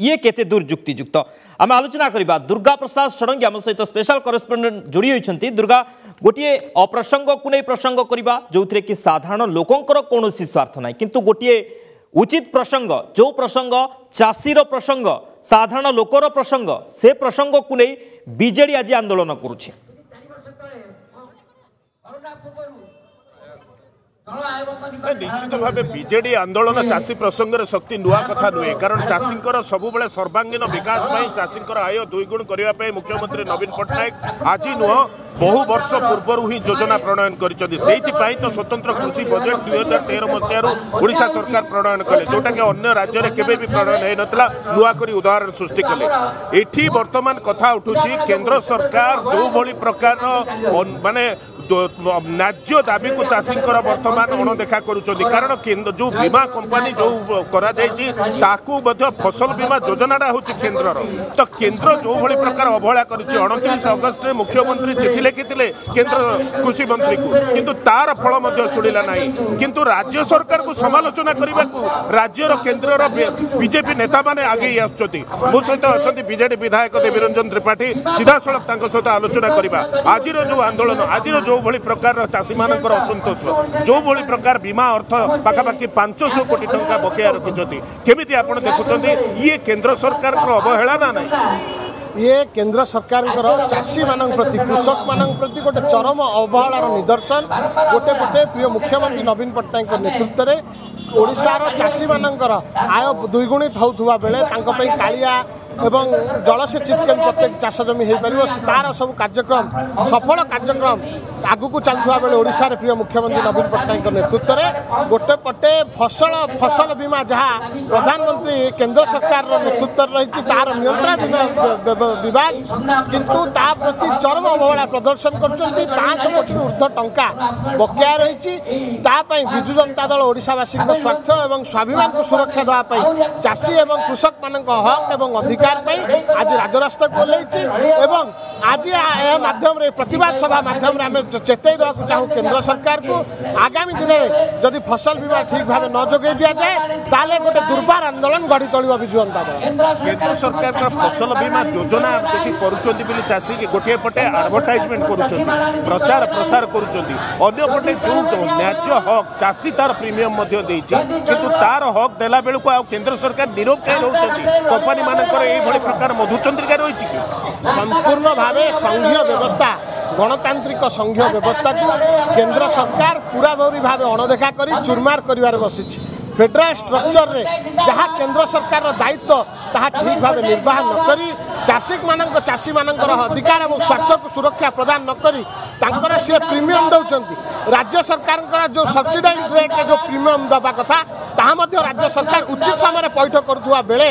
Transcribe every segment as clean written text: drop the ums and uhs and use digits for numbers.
ଇଏ କେତେ ଦୂର ଯୁକ୍ତିଯୁକ୍ତ ଆମେ ଆଲୋଚନା କରିବା। ଦୁର୍ଗା ପ୍ରସାଦ ଷଡ଼ଙ୍ଗୀ ଆମ ସହିତ ସ୍ପେଶାଲ କରେସ୍ପଣ୍ଡେଣ୍ଟ ଯୋଡ଼ି ହୋଇଛନ୍ତି। ଦୁର୍ଗା, ଗୋଟିଏ ଅପ୍ରସଙ୍ଗକୁ ନେଇ ପ୍ରସଙ୍ଗ କରିବା ଯେଉଁଥିରେ କି ସାଧାରଣ ଲୋକଙ୍କର କୌଣସି ସ୍ୱାର୍ଥ ନାହିଁ, କିନ୍ତୁ ଗୋଟିଏ ଉଚିତ ପ୍ରସଙ୍ଗ, ଯେଉଁ ପ୍ରସଙ୍ଗ ଚାଷୀର ପ୍ରସଙ୍ଗ, ସାଧାରଣ ଲୋକର ପ୍ରସଙ୍ଗ, ସେ ପ୍ରସଙ୍ଗକୁ ନେଇ ବିଜେଡି ଆଜି ଆନ୍ଦୋଳନ କରୁଛି। ନିଶ୍ଚିତ ଭାବେ ବିଜେଡି ଆନ୍ଦୋଳନ ଚାଷୀ ପ୍ରସଙ୍ଗରେ ଶକ୍ତି ନୂଆ କଥା ନୁହେଁ, କାରଣ ଚାଷୀଙ୍କର ସବୁବେଳେ ସର୍ବାଙ୍ଗୀନ ବିକାଶ ପାଇଁ, ଚାଷୀଙ୍କର ଆୟ ଦୁଇଗୁଣ କରିବା ପାଇଁ ମୁଖ୍ୟମନ୍ତ୍ରୀ ନବୀନ ପଟ୍ଟନାୟକ ଆଜି ନୁହଁ ବହୁ ବର୍ଷ ପୂର୍ବରୁ ହିଁ ଯୋଜନା ପ୍ରଣୟନ କରିଛନ୍ତି। ସେଇଥିପାଇଁ ତ ସ୍ୱତନ୍ତ୍ର କୃଷି ବଜେଟ୍ 2013 ମସିହାରୁ ଓଡ଼ିଶା ସରକାର ପ୍ରଣୟନ କଲେ, ଯେଉଁଟାକି ଅନ୍ୟ ରାଜ୍ୟରେ କେବେ ବି ପ୍ରଣୟନ ହେଇନଥିଲା, ନୂଆ କରି ଉଦାହରଣ ସୃଷ୍ଟି କଲେ। ଏଠି ବର୍ତ୍ତମାନ କଥା ଉଠୁଛି କେନ୍ଦ୍ର ସରକାର ଯେଉଁଭଳି ପ୍ରକାରର ମାନେ ନ୍ୟାଯ୍ୟ ଦାବିକୁ ଚାଷୀଙ୍କର ବର୍ତ୍ତମାନ ଅଣଦେଖା କରୁଛନ୍ତି, କାରଣ ଯେଉଁ ବୀମା କମ୍ପାନୀ ଯେଉଁ କରାଯାଇଛି ତାକୁ ମଧ୍ୟ ଫସଲ ବୀମା ଯୋଜନାଟା ହେଉଛି କେନ୍ଦ୍ରର। ତ କେନ୍ଦ୍ର ଯେଉଁଭଳି ପ୍ରକାର ଅବହେଳା କରିଛି, 29 ଅଗଷ୍ଟରେ ମୁଖ୍ୟମନ୍ତ୍ରୀ ଚିଠି ଲେଖିଥିଲେ କେନ୍ଦ୍ର କୃଷି ମନ୍ତ୍ରୀକୁ, କିନ୍ତୁ ତାର ଫଳ ମଧ୍ୟ ଶୁଣିଲା ନାହିଁ। କିନ୍ତୁ ରାଜ୍ୟ ସରକାରକୁ ସମାଲୋଚନା କରିବାକୁ ରାଜ୍ୟର କେନ୍ଦ୍ରର ବିଜେପି ନେତାମାନେ ଆଗେଇ ଆସୁଛନ୍ତି। ମୋ ସହିତ ଅଛନ୍ତି ବିଜେଡି ବିଧାୟକ ଦେବୀରଞ୍ଜନ ତ୍ରିପାଠୀ, ସିଧାସଳଖ ତାଙ୍କ ସହିତ ଆଲୋଚନା କରିବା। ଆଜିର ଯେଉଁ ଆନ୍ଦୋଳନ, ଆଜିର ଯେଉଁଭଳି ପ୍ରକାରର ଚାଷୀମାନଙ୍କର ଅସନ୍ତୋଷ, ଯେଉଁଭଳି ପ୍ରକାର ବୀମା ଅର୍ଥ ପାଖାପାଖି 500 କୋଟି ଟଙ୍କା ବକେୟା ରଖିଛନ୍ତି, କେମିତି ଆପଣ ଦେଖୁଛନ୍ତି ଇଏ କେନ୍ଦ୍ର ସରକାରଙ୍କର ଅବହେଳା ନା ନାହିଁ? ଇଏ କେନ୍ଦ୍ର ସରକାରଙ୍କର ଚାଷୀମାନଙ୍କ ପ୍ରତି, କୃଷକମାନଙ୍କ ପ୍ରତି ଗୋଟେ ଚରମ ଅବହେଳାର ନିଦର୍ଶନ। ଗୋଟେ ପଟେ ପ୍ରିୟ ମୁଖ୍ୟମନ୍ତ୍ରୀ ନବୀନ ପଟ୍ଟନାୟକଙ୍କ ନେତୃତ୍ୱରେ ଓଡ଼ିଶାର ଚାଷୀମାନଙ୍କର ଆୟ ଦ୍ୱିଗୁଣିତ ହେଉଥିବା ବେଳେ ତାଙ୍କ ପାଇଁ କାଳିଆ ଏବଂ ଜଳସେଚିତ କେମିତି ପ୍ରତ୍ୟେକ ଚାଷ ଜମି ହୋଇପାରିବ ତାର ସବୁ କାର୍ଯ୍ୟକ୍ରମ, ସଫଳ କାର୍ଯ୍ୟକ୍ରମ ଆଗକୁ ଚାଲୁଥିବା ବେଳେ ଓଡ଼ିଶାରେ ପ୍ରିୟ ମୁଖ୍ୟମନ୍ତ୍ରୀ ନବୀନ ପଟ୍ଟନାୟକଙ୍କ ନେତୃତ୍ୱରେ ଗୋଟେ ପଟେ ଫସଲ ବୀମା ଯାହା ପ୍ରଧାନମନ୍ତ୍ରୀ କେନ୍ଦ୍ର ସରକାରର ନେତୃତ୍ୱରେ ରହିଛି ତାହାର ନିୟନ୍ତ୍ରଣାଧୀନ ବିଭାଗ, କିନ୍ତୁ ତା ପ୍ରତି ଚରମ ଅବହେଳା ପ୍ରଦର୍ଶନ କରୁଛନ୍ତି। 500 କୋଟିରୁ ଉର୍ଦ୍ଧ୍ୱ ଟଙ୍କା ବକେୟା ରହିଛି। ତା ପାଇଁ ବିଜୁ ଜନତା ଦଳ ଓଡ଼ିଶାବାସୀଙ୍କ ସ୍ୱାର୍ଥ ଏବଂ ସ୍ୱାଭିମାନକୁ ସୁରକ୍ଷା ଦେବା ପାଇଁ ଚାଷୀ ଏବଂ କୃଷକମାନଙ୍କ ହକ୍ ଏବଂ ଅଧିକାର ପାଇଁ ଆଜି ରାଜରାସ୍ତାକୁ ଓହ୍ଲାଇଛି ଏବଂ ଆଜି ଏହା ମାଧ୍ୟମରେ, ପ୍ରତିବାଦ ସଭା ମାଧ୍ୟମରେ ଆମେ ଚେତାଇ ଦେବାକୁ ଚାହୁଁ କେନ୍ଦ୍ର ସରକାରକୁ, ଆଗାମୀ ଦିନରେ ଯଦି ଫସଲ ବୀମା ଠିକ୍ ଭାବେ ନ ଯୋଗାଇ ଦିଆଯାଏ ତାହେଲେ ଗୋଟେ ଦୁର୍ବାର ଆନ୍ଦୋଳନ ଗଢ଼ି ତୋଳିବ ବିଜୁ ଜନତା ଦଳ। କେନ୍ଦ୍ର ସରକାରଙ୍କର ଫସଲ ବୀମା ଯୋଜନା ଦେଖି କରୁଛନ୍ତି ବୋଲି ଚାଷୀ ଗୋଟିଏ ପଟେ ଆଡଭର୍ଟାଇଜମେଣ୍ଟ କରୁଛନ୍ତି, ପ୍ରଚାର ପ୍ରସାର କରୁଛନ୍ତି, ଅନ୍ୟପଟେ ଯେଉଁ ନ୍ୟାଯ୍ୟ ହକ୍ ଚାଷୀ ତାର ପ୍ରିମିୟମ ମଧ୍ୟ ଦେଇଛି, କିନ୍ତୁ ତାର ହକ୍ ଦେଲା ବେଳକୁ ଆଉ କେନ୍ଦ୍ର ସରକାର ନିରବ କାହିଁ ରହୁଛନ୍ତି? କମ୍ପାନୀ ମାନଙ୍କର ଏଇଭଳି ପ୍ରକାର ମଧୁଚନ୍ଦ୍ରିକା ରହିଛି କି? ସମ୍ପୂର୍ଣ୍ଣ ଭାବେ ସଂଘୀୟ ବ୍ୟବସ୍ଥା, ଗଣତାନ୍ତ୍ରିକ ସଂଘୀୟ ବ୍ୟବସ୍ଥାକୁ କେନ୍ଦ୍ର ସରକାର ପୁରାପୁରି ଭାବେ ଅଣଦେଖା କରି ଚୁରମାର କରିବାରେ ବସିଛି। ଫେଡେରାଲ ଷ୍ଟ୍ରକ୍ଚରରେ ଯାହା କେନ୍ଦ୍ର ସରକାରର ଦାୟିତ୍ୱ ତାହା ଠିକ୍ ଭାବେ ନିର୍ବାହ ନ କରି ଚାଷୀମାନଙ୍କର ଅଧିକାର ଏବଂ ସ୍ୱାର୍ଥକୁ ସୁରକ୍ଷା ପ୍ରଦାନ ନ କରି ତାଙ୍କର ସିଏ ପ୍ରିମିୟମ ଦେଉଛନ୍ତି। ରାଜ୍ୟ ସରକାରଙ୍କର ଯେଉଁ ସବସିଡାଇଜ୍ ରେଟ୍ରେ ଯେଉଁ ପ୍ରିମିୟମ ଦେବା କଥା ତାହା ମଧ୍ୟ ରାଜ୍ୟ ସରକାର ଉଚିତ ସମୟରେ ପଇଠ କରୁଥିବା ବେଳେ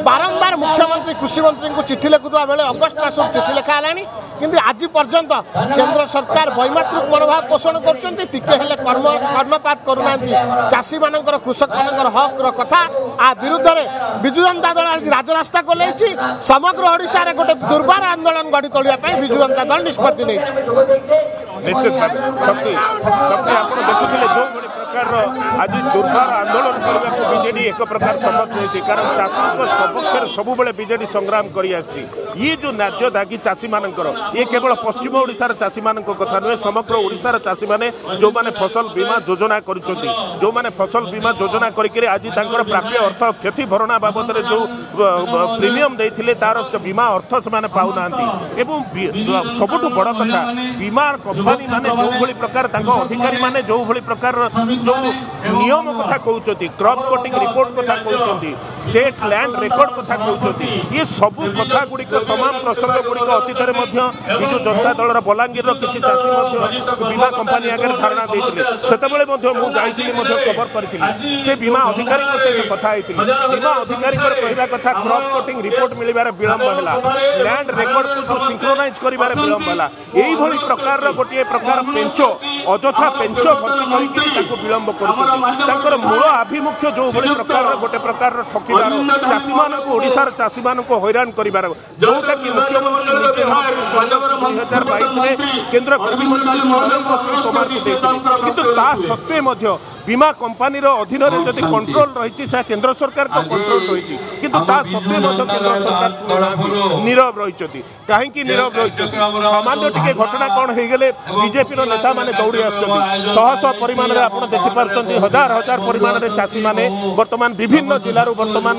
ବାରମ୍ବାର ମୁଖ୍ୟମନ୍ତ୍ରୀ କୃଷିମନ୍ତ୍ରୀଙ୍କୁ ଚିଠି ଲେଖୁଥିବା ବେଳେ ଅଗଷ୍ଟ ମାସରୁ ଚିଠି ଲେଖା ହେଲାଣି, କିନ୍ତୁ ଆଜି ପର୍ଯ୍ୟନ୍ତ କେନ୍ଦ୍ର ସରକାର ବୈମାତୃକ ମନୋଭାବ ପୋଷଣ କରୁଛନ୍ତି। ଟିକେ ହେଲେ କର୍ଣ୍ଣପାତ କରୁନାହାନ୍ତି ଚାଷୀମାନଙ୍କର, କୃଷକମାନଙ୍କର ହକ୍ର କଥା। ଆ ବିରୁଦ୍ଧରେ ବିଜୁ ଜନତା ଦଳ ଆଜି ରାଜରାସ୍ତାକୁ ଓହ୍ଲାଇଛି। ସମଗ୍ର ଓଡ଼ିଶାରେ ଗୋଟେ ଦୁର୍ବାର ଆନ୍ଦୋଳନ ଗଢ଼ି ତୋଳିବା ପାଇଁ ବିଜୁ ଜନତା ଦଳ ନିଷ୍ପତ୍ତି ନେଇଛି। ନିଶ୍ଚିତ ଭାବେ ଶକ୍ତି ଆପଣ ଦେଖୁଥିଲେ ଯେଉଁଭଳି ପ୍ରକାରର ଆଜି ଦୁର୍ବାର ଆନ୍ଦୋଳନ କରିବାକୁ ବିଜେଡି ଏକ ପ୍ରକାର ଶପଥ ନେଇଛି, କାରଣ ଚାଷୀଙ୍କ ସପକ୍ଷରେ ସବୁବେଳେ ବିଜେଡି ସଂଗ୍ରାମ କରି ଆସିଛି। ଇଏ ଯେଉଁ ନ୍ୟାଯ୍ୟ ଦାଗି ଚାଷୀମାନଙ୍କର, ଇଏ କେବଳ ପଶ୍ଚିମ ଓଡ଼ିଶାର ଚାଷୀମାନଙ୍କ କଥା ନୁହେଁ, ସମଗ୍ର ଓଡ଼ିଶାର ଚାଷୀମାନେ ଯେଉଁମାନେ ଫସଲ ବୀମା ଯୋଜନା କରୁଛନ୍ତି, ଯେଉଁମାନେ ଫସଲ ବୀମା ଯୋଜନା କରିକିରି ଆଜି ତାଙ୍କର ପ୍ରାପ୍ୟ ଅର୍ଥ କ୍ଷତି ଭରଣା ବାବଦରେ ଯେଉଁ ପ୍ରିମିୟମ ଦେଇଥିଲେ ତାର ବୀମା ଅର୍ଥ ସେମାନେ ପାଉନାହାନ୍ତି। ଏବଂ ସବୁଠୁ ବଡ଼ କଥା, ବୀମା କମ୍ପାନୀ ମାନେ ଯେଉଁଭଳି ପ୍ରକାର ତାଙ୍କ ଅଧିକାରୀମାନେ ଯେଉଁଭଳି ପ୍ରକାର ଯେଉଁ ନିୟମ କଥା କହୁଛନ୍ତି, କ୍ରପ୍ କଟିଂ ରିପୋର୍ଟ କଥା କହୁଛନ୍ତି, ଷ୍ଟେଟ୍ ଲ୍ୟାଣ୍ଡ ରେକର୍ଡ କଥା କହୁଛନ୍ତି, ଇଏ ସବୁ କଥା ଗୁଡ଼ିକ ତମାମ ପ୍ରସଙ୍ଗ ଗୁଡ଼ିକ ଅତୀତରେ ମଧ୍ୟ ବିଜୁ ଜନତା ଦଳର ବଲାଙ୍ଗୀରର କିଛି ଚାଷୀ ମଧ୍ୟ ବୀମା କମ୍ପାନୀ ଆଗରେ ଧାରଣା ଦେଇଥିଲେ। ସେତେବେଳେ ମଧ୍ୟ ମୁଁ ଯାଇଥିଲି, ମଧ୍ୟ କଭର କରିଥିଲି, ସେ ବୀମା ଅଧିକାରୀଙ୍କ ସହିତ କଥା ହେଇଥିଲି। ବୀମା ଅଧିକାରୀଙ୍କର କହିବା କଥା କ୍ରପ୍ କଟିଂ ରିପୋର୍ଟ ମିଳିବାରେ ବିଳମ୍ବ ହେଲା, ଲ୍ୟାଣ୍ଡ ରେକର୍ଡକୁ ସିଙ୍କ୍ରୋନାଇଜ୍ କରିବାରେ ବିଳମ୍ବ ହେଲା। ଏଇଭଳି ପ୍ରକାରର ଗୋଟିଏ ପ୍ରକାର ପେଞ୍ଚ, ଅଯଥା ପେଞ୍ଚ ଭର୍ତ୍ତି କରିକି ତାକୁ ବିଳମ୍ବ କରୁଛନ୍ତି। ତାଙ୍କର ମୂଳ ଆଭିମୁଖ୍ୟ ଯେଉଁଭଳି ପ୍ରକାରର ଗୋଟେ ପ୍ରକାରର ଠକିବାର, ଚାଷୀମାନଙ୍କୁ, ଓଡ଼ିଶାର ଚାଷୀମାନଙ୍କୁ ହଇରାଣ କରିବାର, ଯେଉଁଟାକି ମୁଖ୍ୟମନ୍ତ୍ରୀ ନିଜେ 2022ରେ କେନ୍ଦ୍ର କୃଷିମନ୍ତ୍ରୀ ନରେନ୍ଦ୍ର ସିଂ ତୋମାରକୁ ଦେଇଥିଲେ, କିନ୍ତୁ ତା ସତ୍ତ୍ୱେ ମଧ୍ୟ ବୀମା କମ୍ପାନୀର ଅଧୀନରେ ଯଦି କଣ୍ଟ୍ରୋଲ ରହିଛି, ସେ କେନ୍ଦ୍ର ସରକାରଙ୍କ କଣ୍ଟ୍ରୋଲ ରହିଛି। କିନ୍ତୁ ତା ସତ୍ତ୍ୱେ ମଧ୍ୟ କେନ୍ଦ୍ର ସରକାର ଶୁଣୁନାହାନ୍ତି, ନୀରବ ରହିଛନ୍ତି। କାହିଁକି ନୀରବ ରହିଛନ୍ତି? ସାମାନ୍ୟ ଟିକେ ଘଟଣା କ'ଣ ହେଇଗଲେ ବିଜେପିର ନେତାମାନେ ଦୌଡ଼ି ଆସୁଛନ୍ତି। ଶହ ଶହ ପରିମାଣରେ ଆପଣ ଦେଖିପାରୁଛନ୍ତି, ହଜାର ହଜାର ପରିମାଣରେ ଚାଷୀମାନେ ବର୍ତ୍ତମାନ ବିଭିନ୍ନ ଜିଲ୍ଲାରୁ ବର୍ତ୍ତମାନ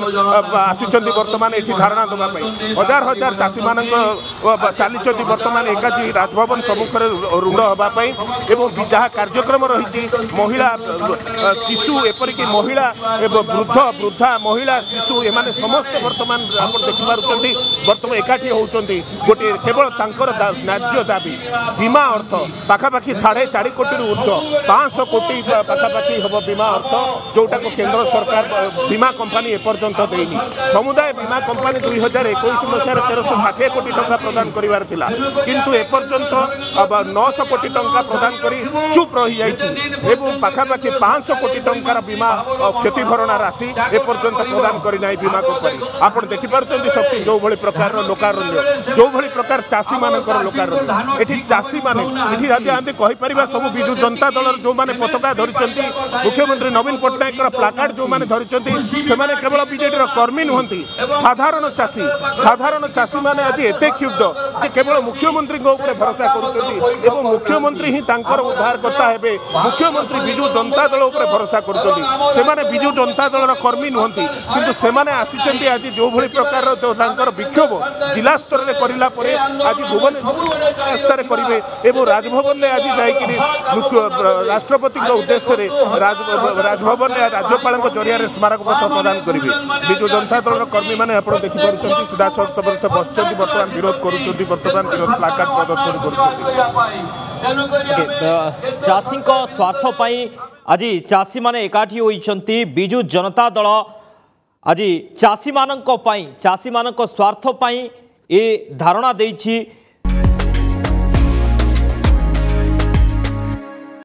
ଆସିଛନ୍ତି ବର୍ତ୍ତମାନ ଏଠି ଧାରଣା ଦେବା ପାଇଁ। ହଜାର ହଜାର ଚାଷୀମାନଙ୍କ ଚାଲିଛନ୍ତି ବର୍ତ୍ତମାନ ଏକାଠି ରାଜଭବନ ସମ୍ମୁଖରେ ରୁଣ୍ଡ ହେବା ପାଇଁ। ଏବଂ ଯାହା କାର୍ଯ୍ୟକ୍ରମ ରହିଛି, ମହିଳା, ଶିଶୁ, ଏପରିକି ମହିଳା ଏବଂ ବୃଦ୍ଧ, ବୃଦ୍ଧା, ମହିଳା, ଶିଶୁ, ଏମାନେ ସମସ୍ତେ ବର୍ତ୍ତମାନ ଆପଣ ଦେଖିପାରୁଛନ୍ତି ବର୍ତ୍ତମାନ ଏକାଠି ହେଉଛନ୍ତି। ଗୋଟିଏ କେବଳ ତାଙ୍କର ନ୍ୟାଯ୍ୟ ଦାବି, ବୀମା ଅର୍ଥ ପାଖାପାଖି 4.5 କୋଟିରୁ ଉର୍ଦ୍ଧ୍ୱ, 500 କୋଟି ପାଖାପାଖି ହେବ ବୀମା ଅର୍ଥ, ଯେଉଁଟାକୁ କେନ୍ଦ୍ର ସରକାର ବୀମା କମ୍ପାନୀ ଏପର୍ଯ୍ୟନ୍ତ ଦେଇନି। ସମୁଦାୟ ବୀମା କମ୍ପାନୀ 2021 ମସିହାରେ 1360 କୋଟି ଟଙ୍କା ପ୍ରଦାନ କରିବାର ଥିଲା, କିନ୍ତୁ ଏପର୍ଯ୍ୟନ୍ତ 900 କୋଟି ଟଙ୍କା ପ୍ରଦାନ କରି ଚୁପ୍ ରହିଯାଇଛି ଏବଂ ପାଖାପାଖି 500 କୋଟି ଟଙ୍କାର ବୀମା କ୍ଷତିଭରଣା ରାଶି ଏପର୍ଯ୍ୟନ୍ତ ପ୍ରଦାନ କରିନାହିଁ ବୀମା କମ୍ପାନୀ। ଆପଣ ଦେଖିପାରୁଛନ୍ତି ଶକ୍ତି, ଯେଉଁଭଳି ପ୍ରକାରର ଲୋକାରଣ୍ୟ, ଯେଉଁଭଳି ପ୍ରକାର ଚାଷୀମାନଙ୍କର ଲୋକାରଣ୍ୟ ଏଠି। ଚାଷୀମାନେ ଏଠି ଯଦି ଆମେ କହିପାରିବା, ସବୁ ବିଜୁ ଜନତା ଦଳର ଯେଉଁମାନେ ପତାକା ଧରିଛନ୍ତି, ମୁଖ୍ୟମନ୍ତ୍ରୀ ନବୀନ ପଟ୍ଟନାୟକର ପ୍ଲାକାର୍ଡ ଯେଉଁମାନେ ଧରିଛନ୍ତି, ସେମାନେ କେବଳ ବିଜେଡିର କର୍ମୀ ନୁହନ୍ତି, ସାଧାରଣ ଚାଷୀ। ସାଧାରଣ ଚାଷୀମାନେ ଆଜି ଏତେ କ୍ଷୁବ୍ଧ ଯେ କେବଳ ମୁଖ୍ୟମନ୍ତ୍ରୀଙ୍କ ଉପରେ ଭରସା କରୁଛନ୍ତି ଏବଂ ମୁଖ୍ୟମନ୍ତ୍ରୀ ହିଁ ତାଙ୍କର ଉଦ୍ଧାରକର୍ତ୍ତା ହେବେ। ମୁଖ୍ୟମନ୍ତ୍ରୀ, ବିଜୁ ଜନତା ଦଳ ଉପରେ ଭରସା କରୁଛନ୍ତି। ସେମାନେ ବିଜୁ ଜନତା ଦଳର କର୍ମୀ ନୁହନ୍ତି, କିନ୍ତୁ ସେମାନେ ଆସିଛନ୍ତି ଆଜି। ଯେଉଁଭଳି ପ୍ରକାରର ତାଙ୍କର ବିକ୍ଷୋଭ ଜିଲ୍ଲା ସ୍ତରରେ କରିଲା ପରେ ଆଜି ଭୁବନେଶ୍ୱର ରାସ୍ତାରେ କରିବେ ଏବଂ ରାଜଭବନରେ ଆଜି ଯାଇକରି ରାଷ୍ଟ୍ରପତିଙ୍କ ଉଦ୍ଦେଶ୍ୟରେ ରାଜଭବନରେ ରାଜ୍ୟପାଳଙ୍କ ଜରିଆରେ ସ୍ମାରକପତ୍ର ପ୍ରଦାନ କରିବେ। ବିଜୁ ଜନତା ଦଳର କର୍ମୀମାନେ ଆପଣ ଦେଖିପାରୁଛନ୍ତି ସିଧାସଳଖ ସମସ୍ତେ ବସିଛନ୍ତି, ବର୍ତ୍ତମାନ ବିରୋଧ କରୁଛନ୍ତି, ବର୍ତ୍ତମାନ ବିରୋଧ ପ୍ଲାକାର୍ଡ ପ୍ରଦର୍ଶନ କରୁଛନ୍ତି। ଚାଷୀଙ୍କ ସ୍ୱାର୍ଥ ପାଇଁ ଆଜି ଚାଷୀମାନେ ଏକାଠି ହୋଇଛନ୍ତି। ବିଜୁ ଜନତା ଦଳ ଆଜି ଚାଷୀମାନଙ୍କ ପାଇଁ, ଚାଷୀମାନଙ୍କ ସ୍ୱାର୍ଥ ପାଇଁ ଏ ଧାରଣା ଦେଇଛି।